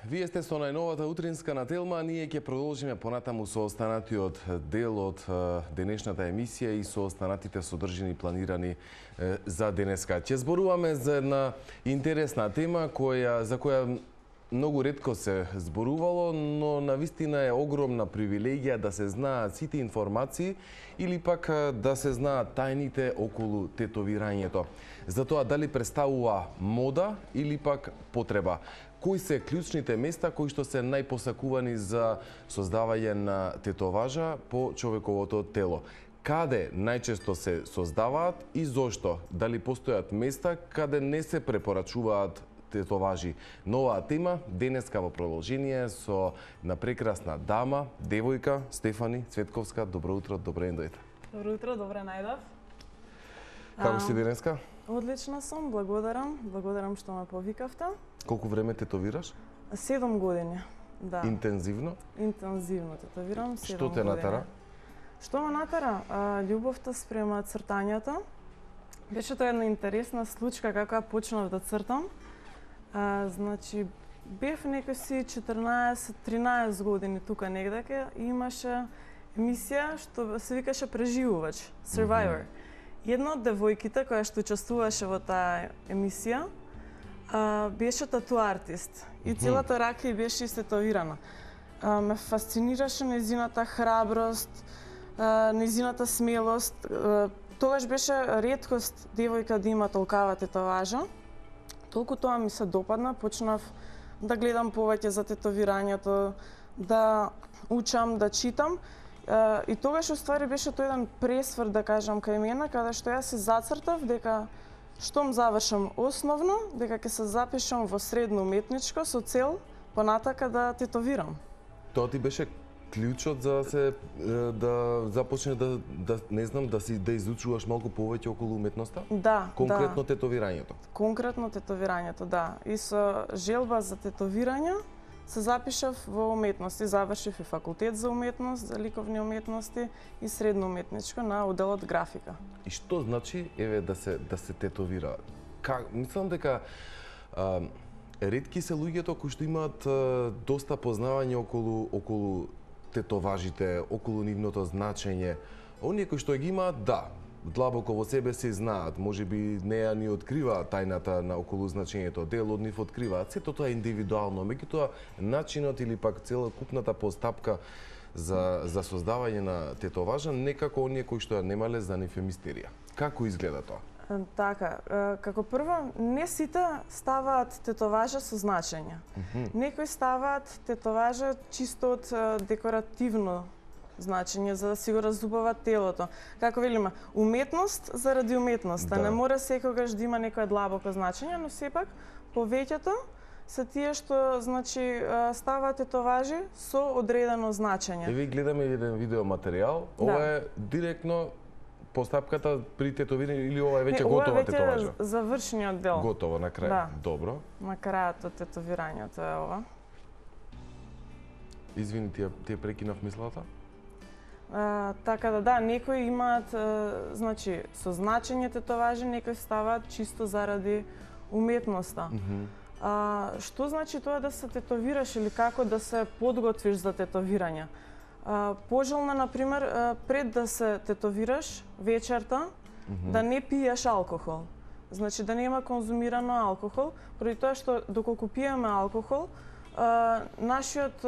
Вие сте со најновата утринска на Телма, ние ќе продолжиме понатаму со останатиот дел од денешната емисија и со останатите содржини планирани за денеска. Ќе зборуваме за една интересна тема за која многу ретко се зборувало, но навистина е огромна привилегија да се знаат сите информации или пак да се знаат тајните околу тетовирањето. За тоа дали представува мода или пак потреба. Кои се клучните места кои што се најпосакувани за создавање на тетоважа по човековото тело? Каде најчесто се создаваат и зошто? Дали постојат места каде не се препорачуваат тетоважи? Новаа тема денеска во продолжение со на прекрасна дама, девојка Стефани Цветковска. Добро утро, добре дојдете. Добро утро, добре најдов. Како си денеска? Одлична сум, благодарам. Благодарам што ме повикавте. Колку време тетовираш? 7 години, да. Интензивно? Интензивно тетовирам 7 години. Што те натера? Што ме натера? Љубовта спрема цртањето. Беше тоа една интересна случка како ја почнав да цртам. Значи, бев некои 14-13 години тука негдаке и имаше емисија што се викаше Преживувач, Survivor. Една од девојките која што учествуваше во таа емисија беше тату артист и целата рака ѝ беше истетовирана. Ме фасцинираше нејзината храброст, нејзината смелост. Тогаш беше реткост девојка да има толкава тетоважа. Толку тоа ми се допадна, почнав да гледам повеќе за тетовирањето, да учам, да читам. И тогаш уствари беше тој еден пресврт, да кажам, кај мене, каде што јас се зацртав дека штом завршам основно, дека ќе се запишам во средно уметничко со цел понатака да тетовирам. Тоа ти беше клучот за да започне да не знам да изучуваш малку повеќе околу уметноста? Да, конкретно тетовирањето. Конкретно тетовирањето, да. И со желба за тетовирање се запишав во уметности, завршив и факултет за уметност, за ликовни уметности и средно уметничко на оделот графика. И што значи еве да се тетовира? Мислам дека ретки се луѓето кои што имаат доста познавање околу тетоважите, околу нивното значење. Оние кои што ги имаат, да, длабоко во себе се знаат, можеби неа ни откриваат тајната на околу значењето, дел од нив откриваат, сето тоа е индивидуално, меѓутоа начинот или пак целокупната постапка за создавање на тетоважа некако оние кои што ја немале за нив е мистерија. Како изгледа тоа? Така, како прво, не сите ставаат тетоважа со значење. Некои ставаат тетоважа чисто од декоративно значење, за да си го разубават телото. Како велиме, уметност заради уметноста. Да. Не мора секогаш да има некое длабоко значење, но сепак повеќето се тие што значи ставаат тетоважи со одредено значење. Еве гледаме еден видеоматеријал, ова е директно постапката при тетовирање или ова е веќе готова тетоважа? Ова е завршениот дел. Готово на крај. Да. Добро. На крајот од тетовирањето е ова. Извини, ти прекинав мислата? Така да, некои имаат значи со значење тетоважи, некои ставаат чисто заради уметноста. Што значи тоа да се тетовираш или како да се подготвиш за тетовирање? Пожелно, например, пред да се тетовираш вечерта, да не пиеш алкохол. Значи да нема конзумирано алкохол, поради тоа што доколку пиеме алкохол, нашиот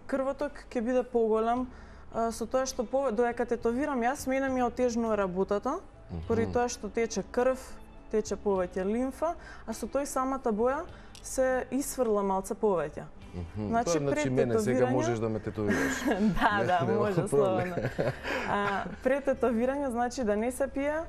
крвоток ќе биде поголем, со тоа што додека тетовирам јас, мене ми отежнува работата, поради тоа што тече крв, тече повеќе лимфа, а со тој самата боја се исфрла малце повеќе. Значи мене сега можеш да ме тетовираш. Да, може слободно. Пред тетовирање значи да не се пие,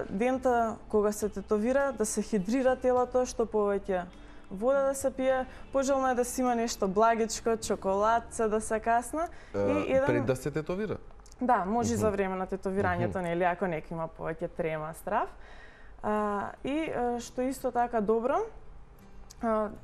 дента кога се тетовира да се хидрира телото, што повеќе вода да се пие, пожелно е да си има нешто благичко, чоколадце да се касна. Пред да се тетовира? Да, може и за време на тетовирањето, нели, ако некој има повеќе трема, страв. И што исто така добро,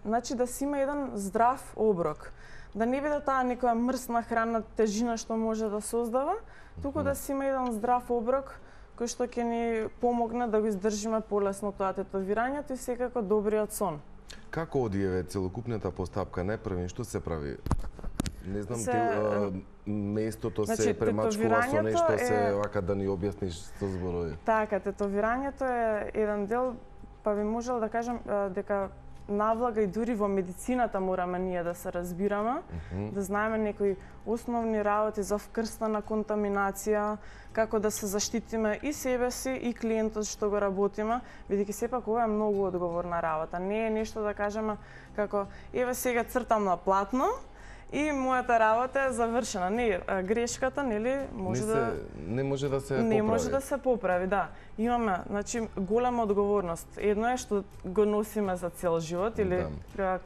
значи да си има еден здрав оброк. Да не биде таа некоја мрсна храна, тежина што може да создава, туку да си има еден здрав оброк кој што ќе ни помогне да го издржиме полесно тоа тетовирањето и секако добриот сон. Како оди еве целокупната постапка? Најпрво што се прави? Не знам, местото се премачкува со нешто, се вака да ни објасниш со зборови. Така, тетовирањето е еден дел, па би можел да кажам дека навлага и дури во медицината мораме ние да се разбираме, да знаеме некои основни работи за вкрстана контаминација, како да се заштитиме и себе си и клиентот што го работиме, бидејќи сепак ова е многу одговорна работа. Не е нешто да кажеме како еве сега цртам на платно и мојата работа е завршена. Не, грешката, нели, не може да се поправи. Не може да се поправи, да. Имаме, значи, голема одговорност. Едно е што го носиме за цел живот или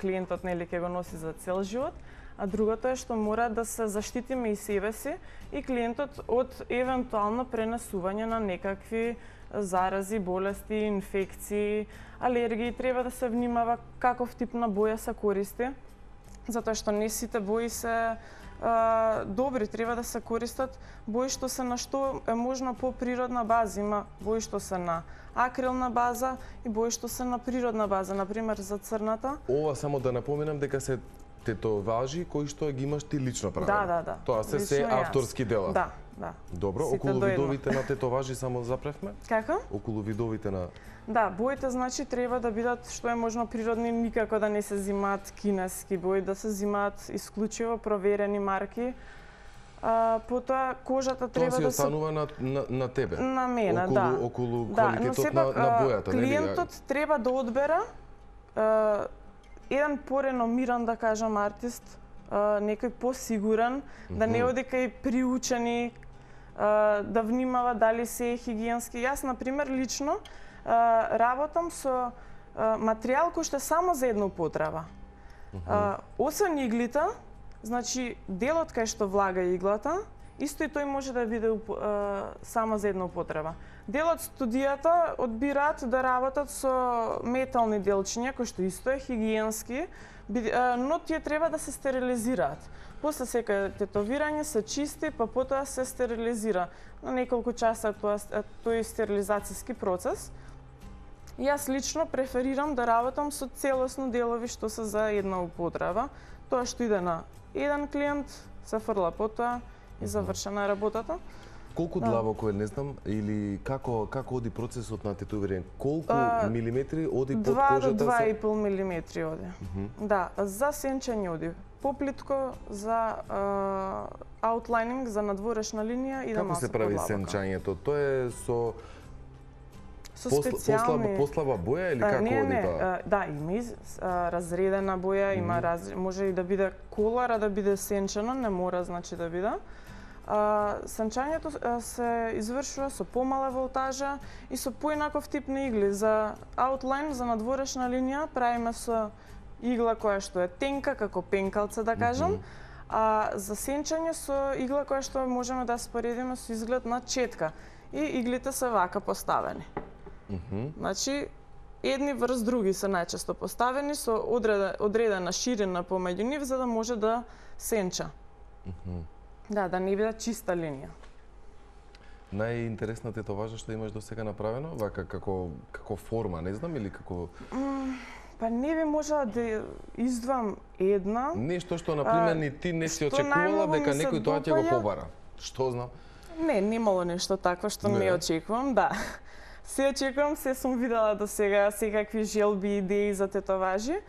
клиентот нели ќе го носи за цел живот, а другото е што мора да се заштитиме и себе си и клиентот од евентуално пренесување на некакви зарази, болести, инфекции, алергии. Треба да се внимава каков тип на боја се користи, затоа што не сите бои се добри, треба да се користат бои што се на што е можно по природна база. Има бои што се на акрилна база и бои што се на природна база, например за црната. Ова само да напоменам дека се тетоважи кои што ги имаш ти лично правено. Да. Тоа се авторски дела. Да. Добро, околу видовите на тетоважи само запревме? Како? Околу видовите на... Да, боите значи треба да бидат што е можно природни, никако да не се зимаат кинески бои, да се зимаат исклучиво проверени марки. Потоа кожата треба да се... Тоа си останува на тебе? На мене, да. Околу квалитетот на бојата, нели? Клиентот треба да одбера еден пореномиран, да кажам, артист, некој посигурен, да не оди кај приучени, да внимава дали се е хигиенски. Јас, например, лично работам со материјал кој што е само за една употреба. Освен иглите, значи делот кај што влага иглата, исто и тој може да биде само за една употреба. Дел од студијата одбираат да работат со метални делчиња, кои што исто е хигиенски, но тие треба да се стерилизираат. После секој тетовирање се чисти, па потоа се стерилизира. На неколку часа тој стерилизацијски процес. Јас лично преферирам да работам со целосно делови што се за една употреба. Тоа што иде на еден клиент, се фрла потоа и завршена е работата. Колку длабоко е, не знам, или како оди процесот на тетовирање? Колку милиметри оди под кожата? 2 до 2,5 милиметри оди. Да, за сенчење оди поплитко, за аутлайнинг, за надворешна линија и да малку подлабоко. Како се прави сенчањето? Тоа е со специјални... Послаба боја или како оди тоа? Да, има разредена боја, има може и да биде колар, а да биде сенчено, не мора значи да биде. Сенчањето се извршува со помала волтажа и со поинаков тип на игли. За аутлайн, за надворешна линија, правиме со игла која што е тенка, како пенкалца да кажам, а за сенчање со игла која што можеме да споредиме со изглед на четка. И иглите се вака поставени. Значи, едни врз други се најчесто поставени со одредена ширина помеѓу нив за да може да сенча. Да не биде чиста линија. Најинтересната тетоважа што имаш досега направено, вака како форма, не знам, или како... Па не би можела да издвам една. Нешто што, например, ни ти не си очекувала дека некој тоа ќе го побара. Што знам? Не, немало нешто такво што не очекувам, да. Се очекувам, се сум видела до сега секакви желби, идеи за тетоважи.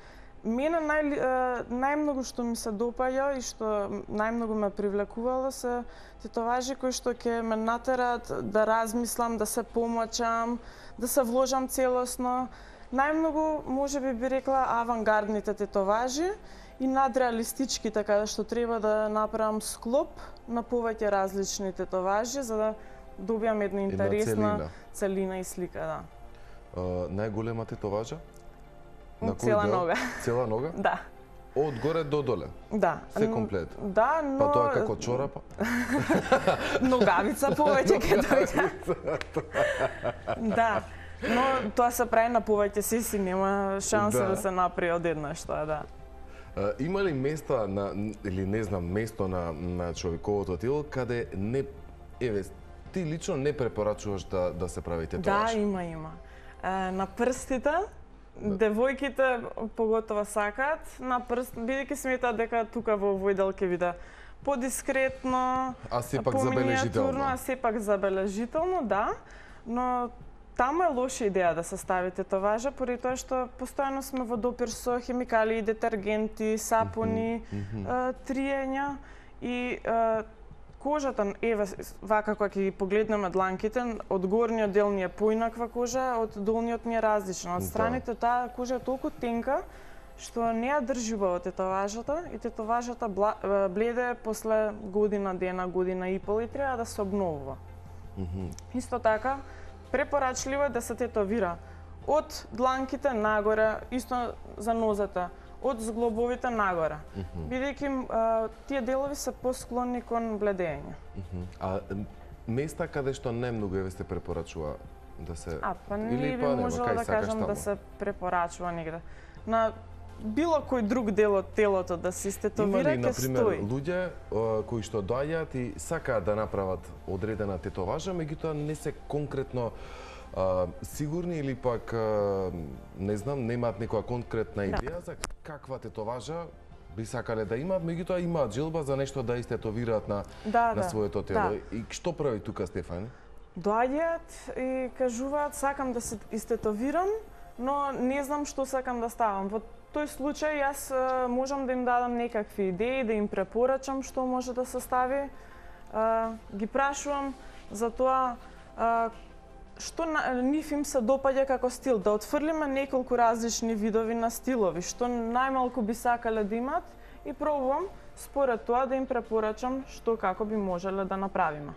Мене најмногу што ми се допаѓа и што најмногу ме привлекувало се тетоважи кои што ќе ме натераат да размислам, да се помачам, да се вложам целосно. Најмногу, може би рекла, авангардните тетоважи и надреалистички, така што треба да направам склоп на повеќе различни тетоважи за да добијам една интересна целина и слика, да. Најголема тетоважа? Цела нога. Цела нога? Да. Од горе до доле? Да. Се комплет? Да, но... Па тоа како чорапа? Ногавица повеќе ќе дојде. Да. Но тоа се прави на повеќе сеси, нема шанса да се направи одеднаш тоа, да. Има ли места или не знам, место на човековото тело каде не ти лично не препорачуваш да се прави тетоваж? Да, има. На прстите девојките поготово сакаат на прст, бидејќи сметаат дека тука во овој дел ќе биде подискретно, А сепак забележително. а сепак забележително, да, но таму е лоша идеја да се стави тетоважа, поради тоа што постојано сме во допир со хемикалии, детергенти, сапуни, триења и кожата, еве, вака кога ќе ги погледнеме дланките, од горниот дел ни е поинаква кожа, од долниот ни е различна. Од страните таа кожа е толку тенка што не ја држи убаво тетоважата и тетоважата бледе после година дена, година и пол и треба да се обновува. Исто така, препорачливо е да се тетовира од дланките нагоре, исто за нозата, од зглобовите нагоре, бидејќи тие делови се посклонни кон бледење. А места каде што најмногу еве се препорачува да се па не би можела да кажам да се препорачува негде. На било кој друг дел од телото да се истетовира, ќе стои. Има ли, например, луѓе кои што доаѓаат и сакаат да направат одредена тетоважа, меѓутоа не се конкретно сигурни или пак, не знам, немаат некоја конкретна идеја за каква тетоважа би сакале да имаат, меѓутоа имаат желба за нешто да истетовираат на своето тело. И што прави тука Стефани? Доаѓаат и кажуваат сакам да се истетовирам, но не знам што сакам да ставам. Во тој случај јас можам да им дадам некакви идеи, да им препорачам што може да се стави. Ги прашувам за тоа што нив им се допаѓа како стил, да отфрлиме неколку различни видови на стилови, што најмалку би сакале да имат и пробувам според тоа да им препорачам што како би можеле да направиме.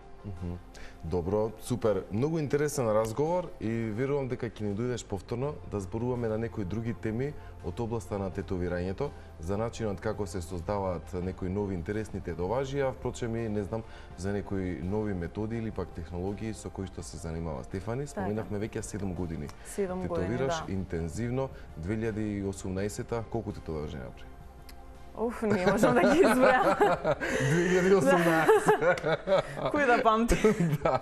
Добро, супер. Многу интересен разговор и верувам дека ќе ни дојдеш повторно да зборуваме на некои други теми од областа на тетовирањето, за начинот како се создаваат некои нови интересни тетоважи, а впрочем и не знам за некои нови методи или пак технологии со кои што се занимава Стефани. Споменавме веќе 7 години. 7 години, тетовираш интензивно. 2018-та колку тетоважи направи? Не можам да ги избројам. 2018. Кој да памти? Да,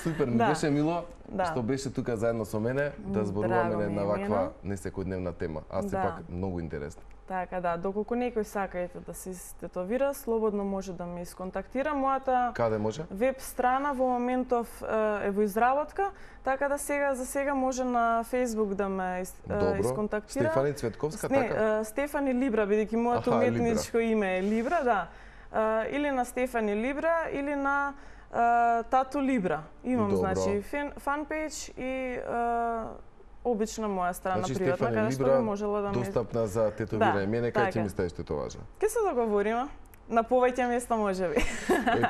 супер, ми беше мило што беше тука заедно со мене да зборуваме на ваква несекојдневна тема, а сепак многу интересно. Така да, доколку некој сака да се тетовира, слободно може да ме исконтактира. Мојата Каде може? веб страна во моментов е во изработка, така да за сега може на Facebook да ме исконтактира. Стефани Цветковска, така? Стефани Либра, бидејќи моето уметничко име е Либра, да. Или на Стефани Либра, или на Тату Либра. Имам, значи, фанпејдж и обична моја страна приватна, каде што би можела да ме... достапна за тетовирање. Мене кај ќе ми ставиш тетоважа? Ке се договориме. На повеќе места можеби.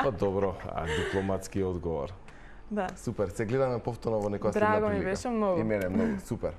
Па добро, дипломатски одговор. Да. Супер, се гледаме повторно во некоја следна прилика. Драго ми беше многу. И мене многу, супер.